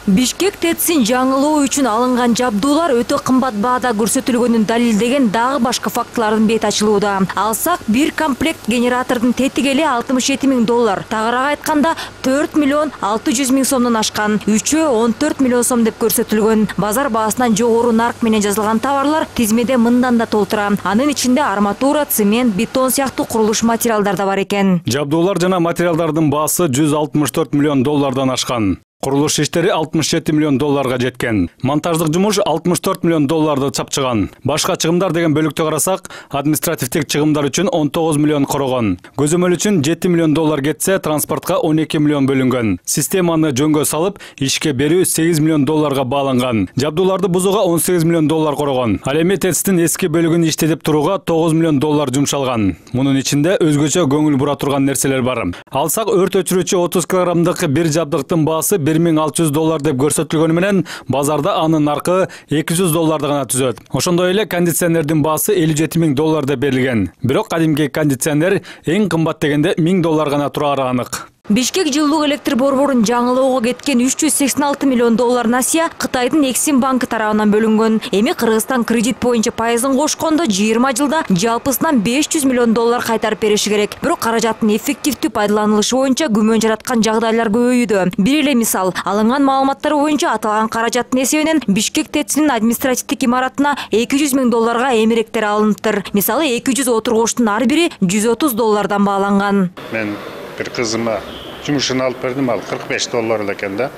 Бишкек ТЭЦин жаңылоо үчүн алынган жабдуулар өтө кымбат баада көрсөтүлгөнүн далилдеген дагы башка фактылардын бет ачылууда. Алсак, бир комплект генератордун тетиги эле $67 000. Тагыраак айтканда 4 600 000 сомдон ашкан. Үчөө 14 миллион сом деп көрсөтүлгөн. Базар баасынан жогору нарк менен жазылган товарлар тизмеде мындан да толтура. Анын ичинде арматура, цемент, бетон сыяктуу курулуш материалдар да бар экен. Жабдуулар жана материалдардын баасы $164 миллион ашкан. Курулуш иштери $67 миллион жеткен. Монтаждык жумуш $64 миллион чапчыган. Башка чыгымдар деген бөлүктү карасак, административдик чыгымдар үчүн 19 миллион корогон. Көзөмөл үчүн $7 миллион кетсе, транспортко 12 миллион бөлүнгөн. Системаны жөнгө салып, ишке берүү $8 миллион бааланган. Жабдууларды бузууга $18 миллион корогон. Ал эми ТЭЦтин эски бөлүгүн иштетип турууга $9 миллион жумшалган. Мунун ичинде өзгөчө көңүл бура турган нерселер бар. Алсак, өрт өчүрүүчү 30 килограммдык бир жабдыктын баасы $1600 деп көрсөтүлгөнү менен, базарда анын наркы $200 гана түзөт. Ошондой эле кондиционердин баасы $57 000 деп берилген. Бирок кадимки кондиционер эң кымбат дегенде $1000 гана турары анык. Бишкек жылуулук электр борборун жаңылоого кеткен $386 миллион насыя Кытайдын Эксим банкы тарабынан бөлүнгөн. Эми Кыргызстан кредит боюнча пайызын кошкондо 20 жылда жалпысынан $500 миллион кайтарып бериши керек. Бирок каражаттын эффективдүү пайдаланылышы боюнча күмөн жараткан жагдайлар көбөйүүдө. Бир эле мисал, алынган маалыматтар боюнча аталган каражаттын эсебинен Бишкек ТЭЦинин административдик имаратына $200 000 эмеректер алыныптыр. Мисалы 200 отургучтун ар бири $130 бааланган. Мен bir kızıma cumuşunu alıp verdim, al $45 eкен da.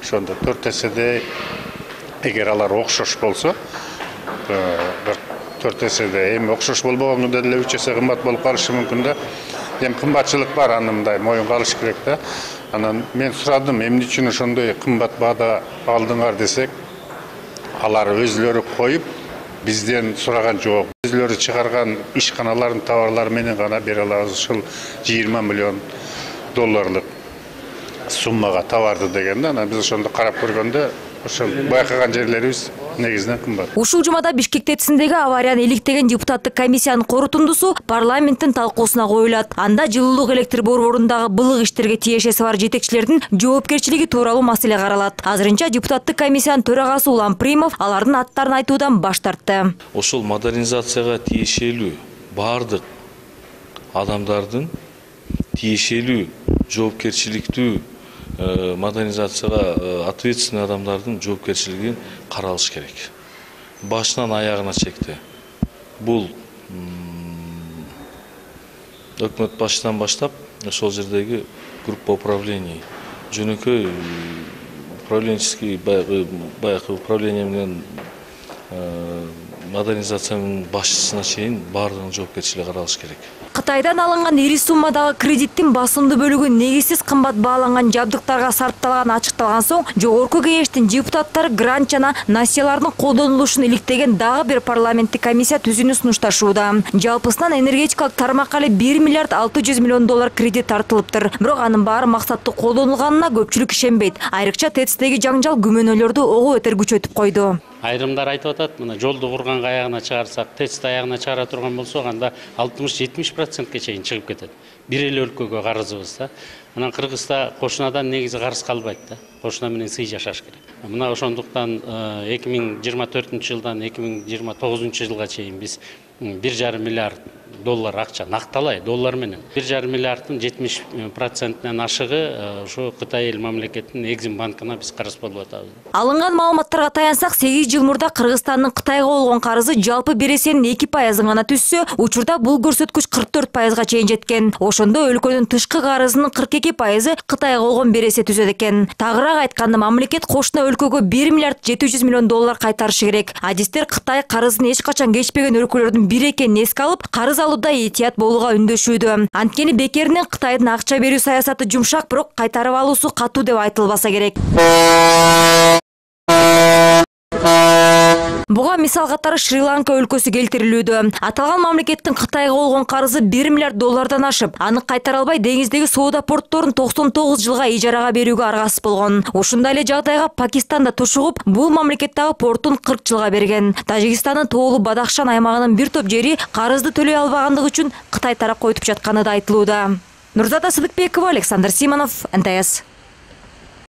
Şonda 4 esede eğer alar okşoş bolsa, 4 esede hem okşoş bolboganda da 3 ese kımbat bolup kalışı mümkün da. Hem kımbatçılık var anımda, moyun kalış kerek da. Anan men suradım, emni üçün ошондой kımbat bağda aldыңар desek, alar özlörü koyup бизден сураган жок. Өзлөрү чыгарган ишканалардын товарлары менен гана бере алабыз ушул $20 миллион суммага товарды дегенде, анан биз ошондо карап көргөндө ошол байкаган жерлерибиз негизинен кымбат. Ушул жумада Бишкек ТЭЦиндеги аварияны иликтеген депутаттык комиссиянын корутундусу парламенттин талкуусуна коюлат. Анда жылуулук электр борборундагы былык иштерге тиешеси бар жетекчилердин жоопкерчилиги тууралуу маселе каралат. Азырынча депутаттык комиссиянын төрагасы Улан Примов алардын аттарын айтуудан баш тартты. Ошол модернизацияга тиешелүү бардык адамдардын тиешелүү жоопкерчиликтүү модернизацияга ответственный адамдардын жоопкерчилигин каралыш керек. Башынан аягына чекти. Бул өкмөт башынан баштап ошол жердеги группа управлений жөнөкөй управленческий баягы управление менен модернизациянын башчысына чейин бардыгынын жоопкерчилиги каралыш керек. Кытайдан алынган ири суммадагы кредиттин басымдуу бөлүгү негизсиз кымбат бааланган жабдыктарга сарпталганы ачыкталган соң, жогорку кеңештин депутаттары грант жана насыялардын колдонулушун иликтеген дагы бир парламенттик комиссия түзүүнү сунушташууда. Жалпысынан энергетикалык тармакка эле $1 600 000 кредит тартылыптыр. Бирок анын баары максаттуу колдонулганына көпчүлүк ишенбейт. Айрыкча ТЭЦтеги жаңжал күмөнөлөрдү ого бетер күчөтүп койду. Айрымдар айтып атат, мына жолду курганга аягына чыгарсак, ТЭЦти аягына чыгара турган болсок, анда 60-70%ке чейин чыгып кетет. Бир эле өлкөгө карызыбыз да. Анан Кыргызда кошунадан негизи карыз калбайт да. Кошуна менен сый жашаш керек. Мына ошондуктан 2024 жылдан 2029 жылга чейин биз $1,5 миллиард акча накталай доллар менен 1,5 миллиарддын 70%-нен ашыгы ошо Кытай эл мамлекетинин Эксим банкына биз карыз болуп атабыз. Алынган маалыматтарга таянсак, 8 жыл мурда Кыргызстандын Кытайга болгон карызы жалпы бересенин 2% гана түшсө, учурда бул көрсөткүч 44%га чейин жеткен. Ошондо өлкөнүн тышкы карызынын 42% Кытайга болгон бересе түзөт экен. Тагыраак айтканда, мамлекет кошуна өлкөгө $1 700 000 кайтарышы керек. Адистер Кытай карызын эч качан кечпеген өлкөлөрдүн бири экенин эске алып, карыз алууда этият болууга үндөшүүдө. Анткени бекеринен Кытайдын акча берүү саясаты жумшак, бирок кайтарып алуусу катуу деп айтылбаса керек. Буга мисал катары Шри-Ланка өлкөсү келтирилүүдө. Аталган мамлекеттин Кытайга болгон карызы $1 миллиард ашып, аны кайтара албай деңиздеги соода портторун 99 жылга ижарага берүүгө аргасыз болгон. Ушундай эле жагдайга Пакистан да тушугуп, бул мамлекеттеги портун 40 жылга берген. Тажикстандын тоолуу Бадахшан аймагынын бир топ жери карызды төлөй албагандыгы үчүн Кытай тарапка өтүп жатканы да айтылууда. Нурзата Сыдыкбекова, Александр Симонов, НТС.